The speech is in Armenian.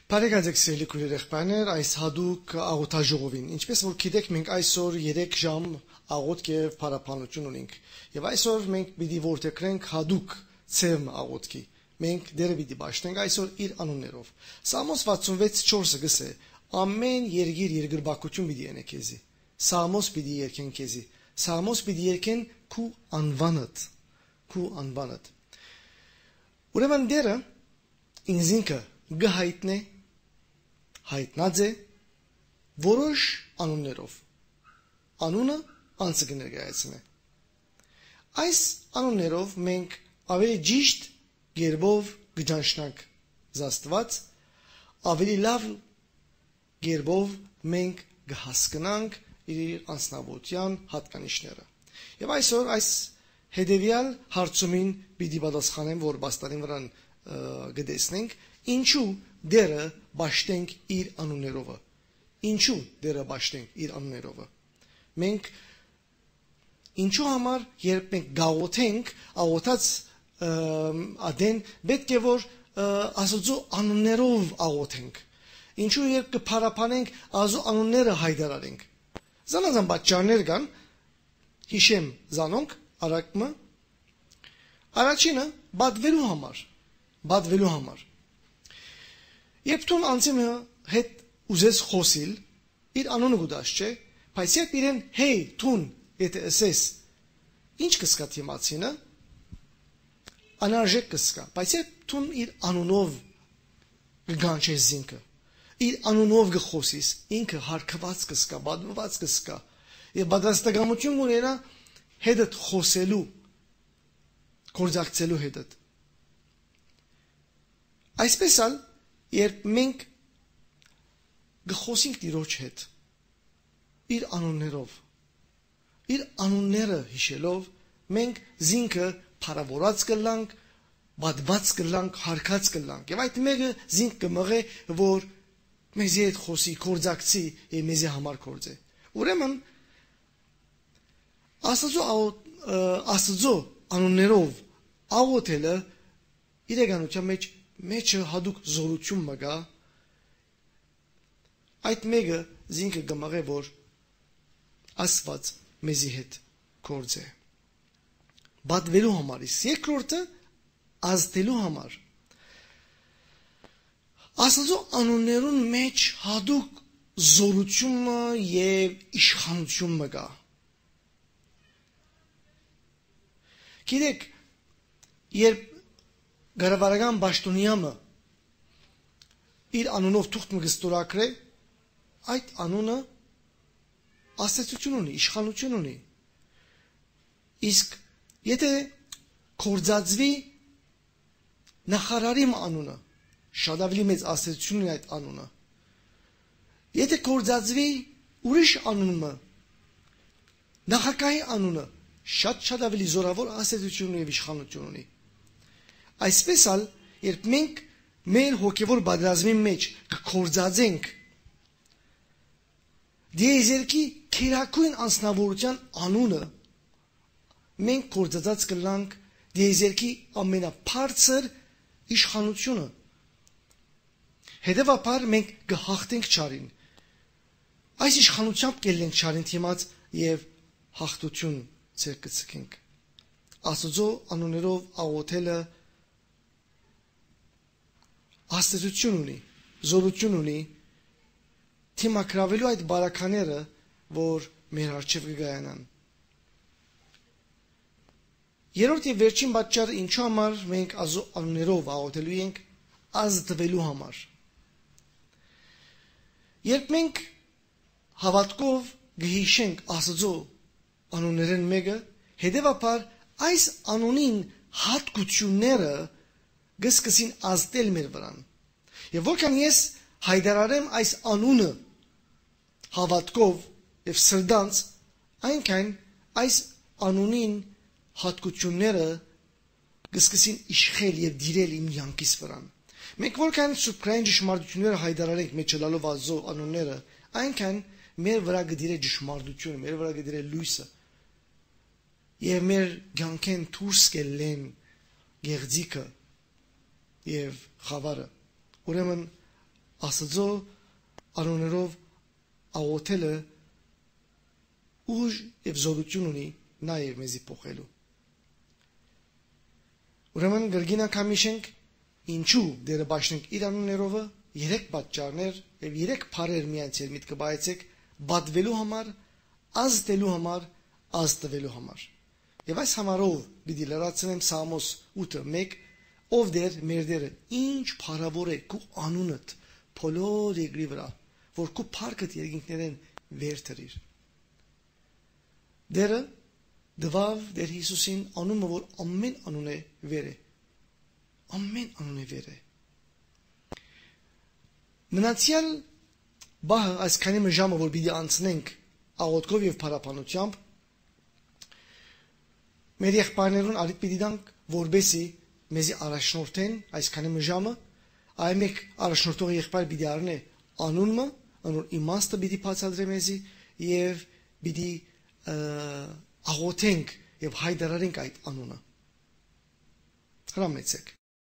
Բարեկացեք սիրելի քույրեր, այս հadouk աղոթաժողովին, ինչպես որ գիտեք, մենք այսօր 3 ժամ աղոթք եւ փառաբանություն ունենք։ Եվ այսօր մենք պիտի որդեգրենք հadouk ցեմ աղոթքի։ Մենք դերը պիտի բաշխենք այսօր իր անուններով։ Սամոս 66:4-ը գսե. ամեն երգիր երկրբակություն պիտի ենե քեզի։ Սամոս պիտի երգեն քեզի։ Սամոս պիտի երգեն քու անվանդ։ Ուրեմն դերը ինձինքը գահիտնե հայտնած է որոշ անուններով։ Անունը անձը կներկայացնե։ Այս անուններով մենք ավելի ճիշտ գերբով կճանչնանք Աստված, ավելի լավ գերբով մենք կհասկանանք իր անձնավորության հատկանիշները։ Եվ այսօր այս հետևյալ հարցումին պիտի պատասխանեմ, որ բաստանին վրան գտեսնենք, ինչու դերը բաշխենք իր անուններով։ Ինչու դերը բաշխենք իր անուններով։ Մենք ինչու համար երբ մենք գաղութենք, աղոթած ադեն պետք է որ Աստծո անուններով աղոթենք։ Ինչու երբ կփառաբանենք Աստծո անունները հայտարարենք։ Զանազան պատճառներ կան, հիշեմ զանոնք արակմը։ Առաջինը բադվելու համար։ Երբ դու անձի հետ ուզես խոսիլ, իր անունը գուտած չէ, բայց երբ իրեն հեյ, տուն, եթե ասես, ինչ կսկա թիմացինը, անարժեք կսկա, բայց երբ դու իր անունով կգանչես զինքը, իր անունով կխոսիս, ինքը հարկված կսկա, բադված կսկա, եւ պատրաստակամություն ունենա հետդ խոսելու, գործակցելու հետդ։ Այսպես ալ, երբ մենք գխոսենք Տիրոջ հետ, իր անուններով, իր անունները հիշելով, մենք զինքը փառավորած կլանք, բադված կլանք, հարկած կլանք։ Եվ այդ մեկը զինք կմղե, որ մեզի հետ խոսի, գործակցի եւ մեզի համար գործե։ Ուրեմն Աստծո անուններով աղոթելը իրականության մեջը հadouk զորություն մգա, այդ մեկը զինքը կմղե, որ Աստված մեզի հետ գործե։ Բադվելու համար, երկրորդը ազդելու համար։ Աստծո անուններուն մեջ հadouk զորությունը եւ իշխանություն մգա։ Գիտեք, երբ գարավարական Բաշտոնյամը իր անունով թուղթ մգստորակրե, այդ անունը աստեցություն ունի, իշխանություն ունի։ Իսկ եթե կործածվի նախարարի անունը, շատ ավելի մեծ աստեցություն ունի այդ անունը։ Եթե կործածվի ուրիշ անունը, նախագահի անունը, շատ ավելի զորավոր աստեցություն ունի եւ իշխանություն ունի։ Այսպես ալ, երբ մենք մեր հոգևոր պատերազմի մեջ կկործածենք դիեզերքի քերակույն անձնավորության անունը, մենք կործածած կլանք դիեզերքի ամենաբարձր իշխանությունը։ Հետևաբար մենք կհաղթենք չարին։ Այս իշխանությամբ կելնենք չարին թիմած եւ հաղթություն ցեր կցկենք։ Աստծո անուններով աղոթելը աստեցություն ունի, զորություն ունի, թիմակրավելու այդ բարակաները, որ մեր առջև կգայանան։ Երրորդ եւ վերջին պատճառը ինչու համար մենք Աստծո անուններով աղոթելու ենք, ազդվելու համար։ Երբ մենք հավատքով գհիշենք Աստծո անուններն մեկը, հետևաբար այս անունին հատկությունները գսկսին ազդել մեր վրան։ Եվ որքան ես հայտարարեմ այս անունը հավատքով եւ սրտանց, այնքան այս անունին հատկությունները գսկսին իշխել եւ դիրել իմ յանքիս վրան։ Մենք որքան սուպրային ճշմարտությունները հայտարարենք մեջլալով Աստծո անունները, այնքան մեր վրա գդիրե ճշմարտությունը, մեր վրա գդիրե լույսը։ Եվ մեր յանքեն դուրս կելեն գեղձիկը եւ խավարը։ Ուրեմն Աստծո անուններով աղոթելը ուժ եւ զորություն ունի նաեւ մեզի փոխելու։ Ուրեմն գրգին անգամիշենք ինչու դերը բաշնենք իր անուններովը 3 պատճառներ եւ 3 բառեր միանցել միտքը բայեցեք բադվելու համար, ազդելու համար, ազդվելու համար։ Եվ այս համարով պիտի լրացնեմ Սամոս 8:1 ով դեր մեր դերը ինչ փառավոր է քու անունդ բոլոր երկրի վրա որ քու փառքդ երկինքներեն վեր թրիր։ Դերը դվավ դեր Հիսուսին անունը որ ամեն անուն է վեր է։ Ամեն անուն է վեր է։ Մնացյալ բահը այսքանի ժամը որ պիտի անցնենք աղոթքով եւ փառապանությամբ մեր եղբայրներուն արիտ պիտի դանք որբեսի մեզի առաջնորդեն այսքանի ժամը այ մեկ առաջնորդող եղբայր պիտի առնե անունը անոր իմաստը պիտի բացատրե մեզի եւ պիտի աղոթենք եւ հայտարարենք այդ անունը։ Հրամեցեք